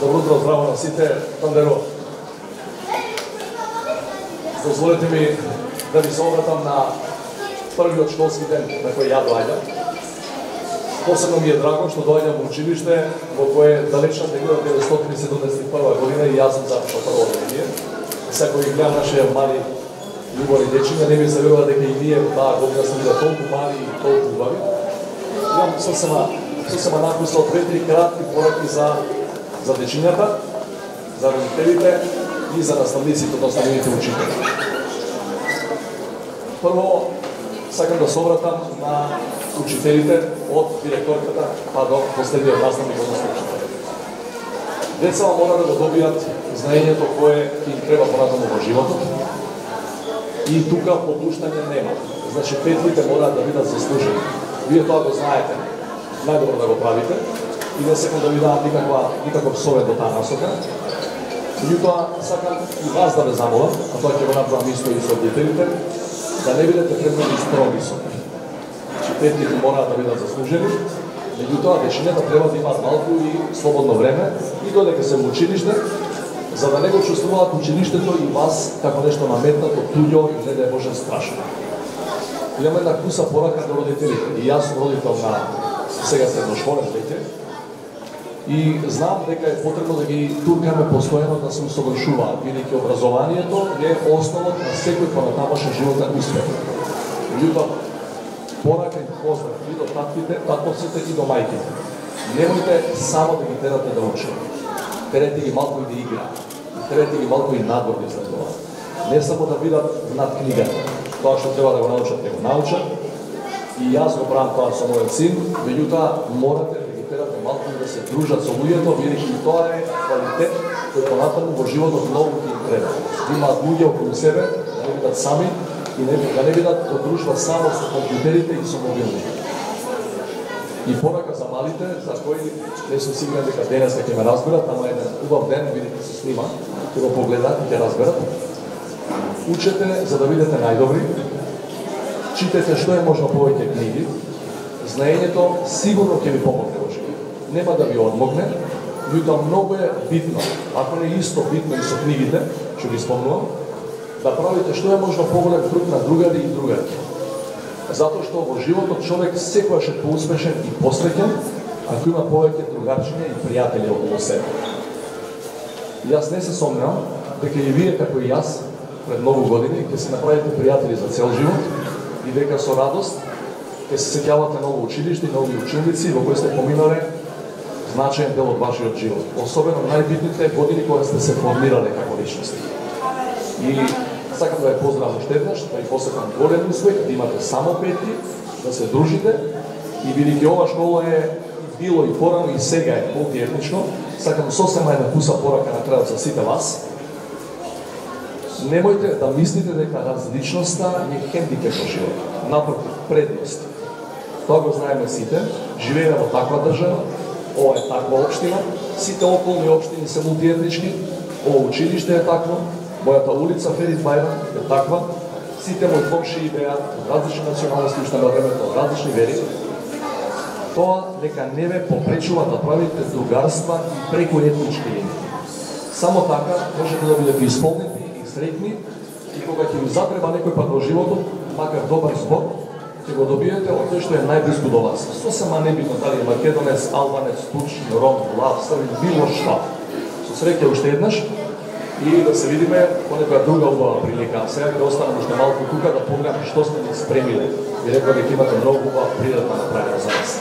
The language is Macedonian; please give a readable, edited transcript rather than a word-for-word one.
Добро утро, здраво на сите, Тандеро. Дозволете ми да ви се обратам на првиот школски ден на кој ја доаѓам. Посебно ми е драго што доаѓам во училиште во кое далечна 1971 година и јас сум запишал прво одделение. Сега кој гледам нашите мали љубави дечиња, не ми се верува дека и ние таа година сме биле толку мали и толку убави. Имам сосема написал 2-3 кратки пораки за дечињата, за родителите и за наставниците, односно нивните учители. Прво, сакам да се обратам на учителите од директорката па до последниот наставник, односно учител. Децата мора да го добијат знаењето кое им треба понатаму во животот и тука попуштање нема. Значи, петлите мораат да бидат заслужени. Вие тоа го знаете, најдобро да го правите и не сакам да ви дадам никаков совет до таа насока. Меѓутоа, сакам и вас да ве замолам, а тоа ќе го направам исто и со родителите, да не бидете премногу строги со нив. Значи, петлите мораат да бидат заслужени, меѓутоа, дечињата треба да имаат малку и слободно време и додека се во училиште, за да не го чувствуваат училиштето и вас како нешто наметнато, туѓо и не да е може страшно. Имаме една куса порака до родителите. И јас сум родител на сега средношколен веќе. И знам дека е потребно да ги туркаме постојано да се усовршуваат, бидејќи образованието е основот на секој понатамошен животен успех. Меѓутоа, порака и поздрав и до татковците и до мајките. Немојте само да ги терате да учат. Терете ги малку и да играат. Терете ги малку и надвор да излезуваат. Не само да бидат над книгата. Тоа што треба да го научат, да го научат. И јас го правам тоа со мојот син, меѓутоа морате да ги терате малку да се дружат со луѓето, бидејќи тоа е квалитет кој понатаму во животот многу ги треба. Да имаат луѓе околу себе, да не бидат сами и да не бидат во дружба само со компјутерите и со мобилните. И порака за малите, за кои не сум сигурен дека денес ќе ме разберат, ама еден убав ден, бидејќи се снима, ќе го погледат и ќе разберат. Учете за да бидете најдобри, читете што е можно повеќе книги, знаењето сигурно ќе ви помогне во живот. Нема да ви одмогне, меѓутоа многу е битно, ако не исто битно и со книгите, што ги спомнувам, да правите што е можно поголем труд на другари и другари. Затоа што во животот човек секогаш е поуспешен и посреќен, ако има повеќе другарчиња и пријатели околу себе. Јас не се сомневам дека и вие како и јас пред многу години ќе се направите пријатели за цел живот и дека со радост ќе се сеќавате ново училиште и нови ученици во кои сте поминале значаен дел од вашиот живот. Особено најбитните години кога сте се формирале како личности. И сакам да ве поздравам уште еднаш, да ви посакам голем успех, да имате само петки, да се дружите и бидејќи ова школа е било и порано и сега е мултиетнично, сакам сосема една куса порака на крајот за сите вас. Немојте да мислите дека различноста е хендикеп во животот. Напротив, предност. Тоа го знаеме сите, живееме во таква држава, ова е таква општина, сите околни општини се мултиетнички, ова училиште е такво, мојата улица Ферит Бајрам е таква, сите мои комшии беа различни националности уште на времето, различни вери. Тоа нека не ве попречува да правите другарства и преку етнички линии. Само така можете да бидете исполнети среќни и кога ќе ви затреба некој пат во животот, макар добар збор, ќе го добиете од тој што е најблиску до вас. Сосема небитно дали е македонец, албанец, турчин, ром, лав, србин, било што. Со среќа уште еднаш и да се видиме по некоја друга убава прилика. Сега ќе останам уште малку тука да погледам што сме ни спремиле. И реков дека имате многу убава пријатна направена за нас.